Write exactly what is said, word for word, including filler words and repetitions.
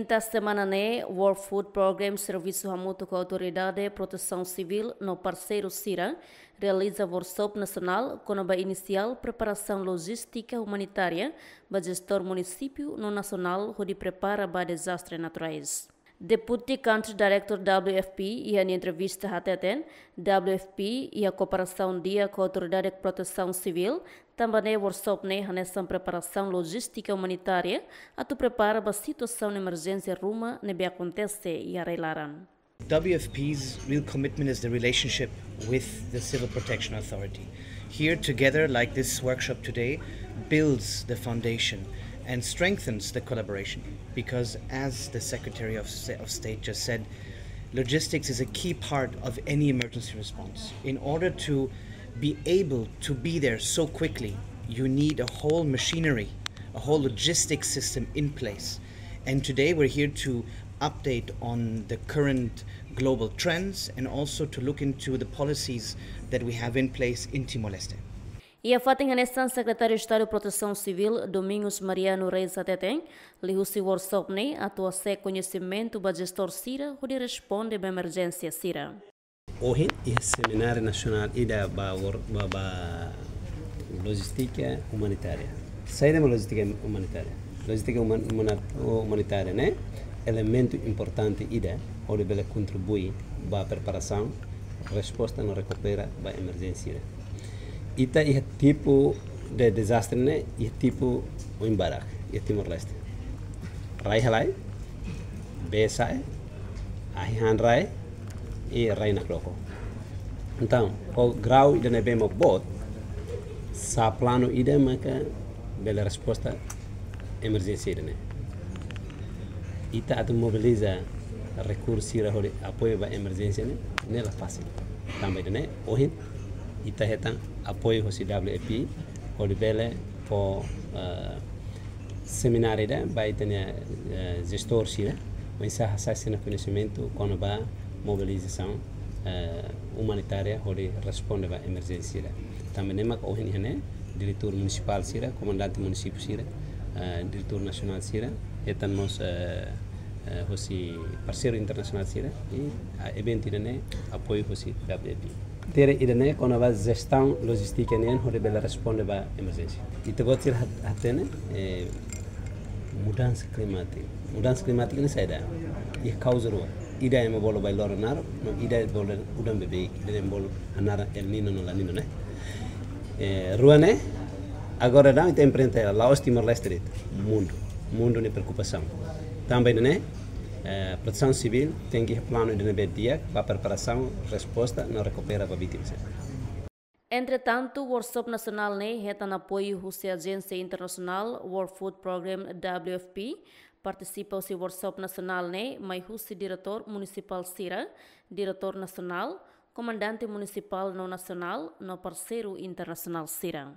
Inta semana ne'e, World Food Programme servisu hamutuk ho Autoridade Protesaun Sivíl no parseiru sira realiza workshop nasionál kona-ba inisiál preparasaun lojístika umanitária ba jestór munisípiu no nasionál hodi prepara ba dezastre naturais. Deputy Country Director W F P iha nia entrevista hateten, W F P iha kooperasaun di'ak ho Autoridade Protesaun Sivíl, tanba ne'e workshop ne'e hanesan preparasaun lojístika umanitária atu prepara ba situasaun emerjénsia ruma ne'ebé akontese iha rai-laran. W F P's real commitment is the relationship with the Civil Protection Authority. Here together, like this workshop today, builds the foundation and strengthens the collaboration. Because as the Secretary of Sa-, of State just said, logistics is a key part of any emergency response. In order to be able to be there so quickly, you need a whole machinery, a whole logistics system in place. And today we're here to update on the current global trends and also to look into the policies that we have in place in Timor-Leste. Iha fatin hanesan, Sekretáriu Estadu Protesaun Sivíl, Domingos Mariano Reis hateten, liuhusi workshop ne'e atu hasa'e koñesimentu ba jestór sira hodi responde ba emerjénsia sira. Ohin iha semináriu nasionál ida ba wor-, ba, ba lojístika umanitária. Saida mak lojístika umanitária? Lojístika uman-, umana-, umanitária ne'e elementu importante ida hodi bele kontribui ba preparasaun, resposta no rekupera ba emerjénsia. Ita iha tipu de dezastre ne'e, iha tipu oin barak iha Timor-Leste. Rai halai, bee sa'e, ahi han rai, i rai nakloke. Entaun, ho grau ida ne'ebé mak boot, sá planu ida maka bele resposta emerjénsia ida ne'e. Ita atu mobiliza rekursu sira hodi apoiu ba emerjénsia ne'e, ne'e la fasil. Tanba ida ne'e, ohin, ita hetan apoiu hosi W F P, hodi bele fó, eh, semináriu ida ba ita-nia, eh, jestór sira, oinsá hasa'e sira-nia koñesimentu kona-ba mobilizasaun, eh, umanitária hodi responde ba emerjénsia sira. Tanba ne'e mak ohin iha ne'e, diretór munisipál sira, komandante munisípiu sira, eh, diretór nasionál sira, hetan mós, eh, eh, hosi parseiru internasionál sira, i, ah, eventu ida ne'e apoiu hosi W F P. Matéria ida ne'e kona-ba jestaun lojístika nian hodi bele responde ba emerjénsia. Ita-boot sira hat-, hatene, eh, mudansa klimátika. Mudansa klimátika ne'e saida? Iha kauza rua. Ida ema bolu bailoron naruk, no ida bolu udan beibeik, ida ema bolu hanaran El Niño no La Niña ne'e. Eh, rua ne'e, agora daudaun ita enfrenta hela, la'ós Timor-Leste de'it, mundu. Mundu nia preokupasaun. Tanba ida ne'e, eh, Protesaun Sivíl tenke iha planu ida ne'ebé di'ak ba preparasaun, resposta no rekupera ba vítima sira. Entretantu, workshop nasionál ne'e hetan apoiu husi ajénsia internasionál World Food Programme, W F P. Partisipa husi workshop nasionál ne'e mai husi diretór munisipál sira, diretór nasionál, komandante munisipál no nasionál, no parseiru internasionál sira.